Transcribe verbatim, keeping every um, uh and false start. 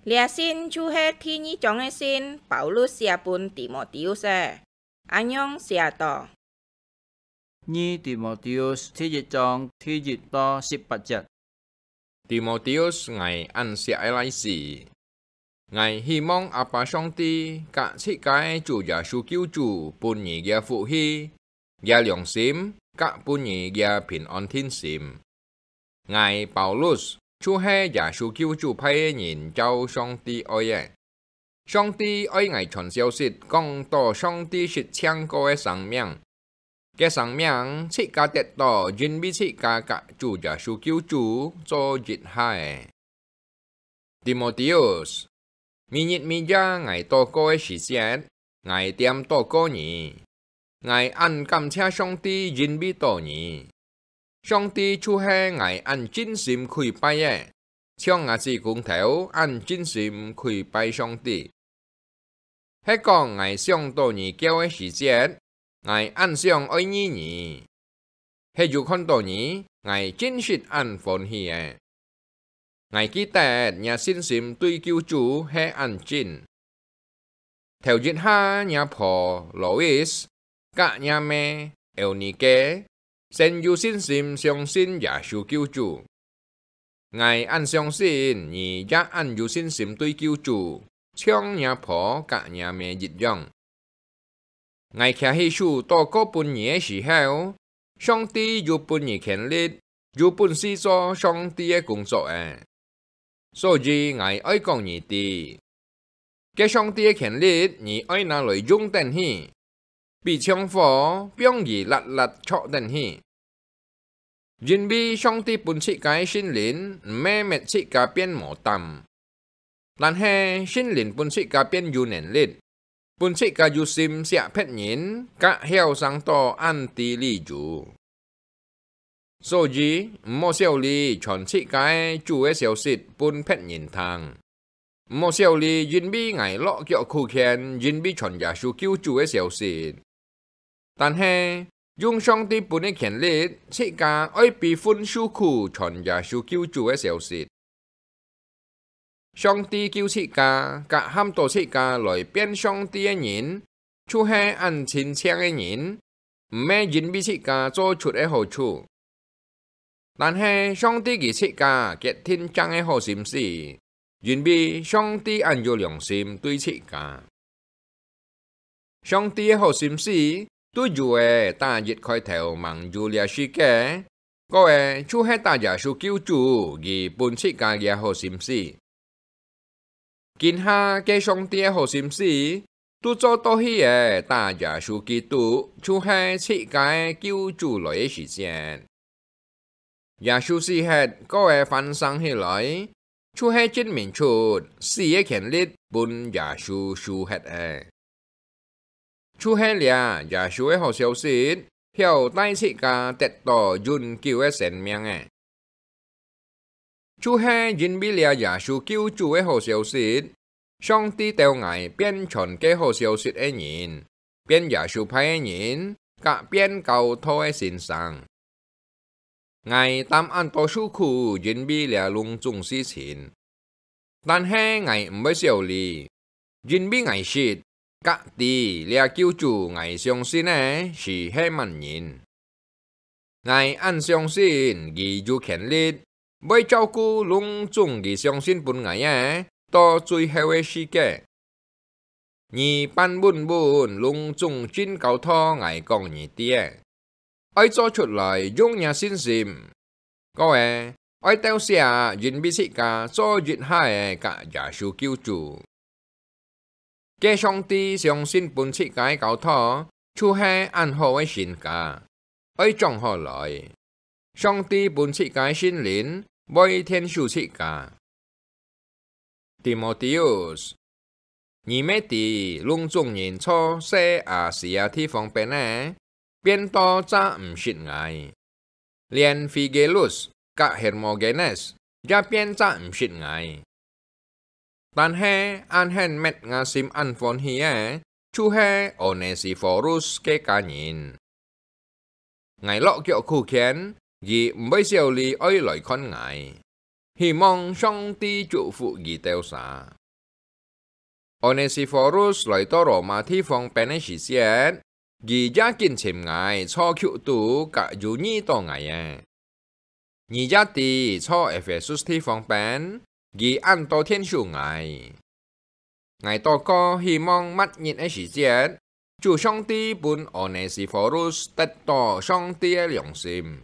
這信就係第二張个信，Paulus寫分Timôteus个。恁樣寫到：二Timôteus第一章第一到十八節。Timôteus，𠊎恁惜个倈仔，𠊎希望阿爸上帝佮自家个主耶穌救主分你个福氣、个良心，佮分你个平安定心。 𠊎Paulus就係耶穌救主派个人照上帝愛个。上帝愛𠊎傳消息，講到上帝實淨過个生命，个生命自家得到，因為自家佮主耶穌救主做一下个。Timôteus，每日每夜𠊎禱告个時節，𠊎恬禱告你。𠊎恁感謝上帝，因為到你。 上帝就係𠊎恁盡心跪拜个，像吾子工頭恁盡心跪拜上帝。係講𠊎想到你噭个時節，𠊎恁想愛遇你。係有看到你，𠊎真實恁歡喜个。 𠊎記得若信心對救主係恁真。頭一下若婆Lois佮若姆Eunike先有信心相信耶穌救主。𠊎恁相信你也恁有信心對救主，像若婆佮若姆一樣。 𠊎擎起手禱告分你个時候，上帝有分你權力，有本事做上帝个工作仔。所以𠊎愛講你知，該上帝个權力你愛拿來用等去，比像火放佢辣辣著等去。 因為上帝分自家个聖靈，毋係搣自家變無膽，但係聖靈分自家變有能力，分自家有心惜別人，佮曉生到恁知理由。所以，毋好小看傳自家个主个消息分別人聽。 毋好小看，因為𠊎落腳苦譴，因為傳耶穌救主个消息。但係，用上帝分个權力，自家愛比分受苦傳耶穌救主个消息。上帝救自家，佮喊到自家來變上帝个人，就係恁親切个人，毋係因為自家做出个好處。 但係上帝佢自家決定正个好心思，因為上帝恁有良心對自家。上帝个好心思，對有个打一開頭吂有這世界，過个就係打耶穌救主佢分自家个好心思。 今下該上帝个好心思，都做到去个打耶穌基督，就係自家个救主來个時節。耶穌死忒，過个翻生起來，就係證明出死个權力分耶穌收忒个。 就係這耶穌个好消息，曉帶自家得到永久个生命个。就係因為這耶穌救主个好消息，上帝兜𠊎變傳該好消息个人，變耶穌派个人，佮變教徒个先生。 𠊎擔恁多受苦，因為這攏總事情。但係𠊎毋會小慮，因為𠊎識，佮知這救主𠊎相信个係係麼人。𠊎恁相信佢有權力，會照顧攏總佢相信分𠊎个，到最後个時節。 你半穩穩攏總真教導𠊎講你知个，愛做出來用若信心。過个，愛鬥寫因為自家做一下个佮耶穌救主。該上帝相信分自家个教導，就係恁好个身價，愛掌好來。上帝分自家个聖靈，會𢯭手自家。 Timôteus，你乜知攏總人在細亞細亞地方邊仔，變到再毋識𠊎，連Phygellus佮Hermogenes也變再毋識𠊎。但係恁肯搣吾心恁歡喜个，就係Onesiphorus个家人。 𠊎落腳苦譴，佢毋會小慮愛來看𠊎。希望上帝祝福佢兜儕。Onesiphorus來到羅馬地方拚个時節，佢也緊尋𠊎，坐腳肚甲有遇到𠊎个。你也知，坐Ephesus地方拚，佢恁多𢯭手𠊎。𠊎禱告，希望末日个時節，主上帝分Onesiphorus得到上帝个良心，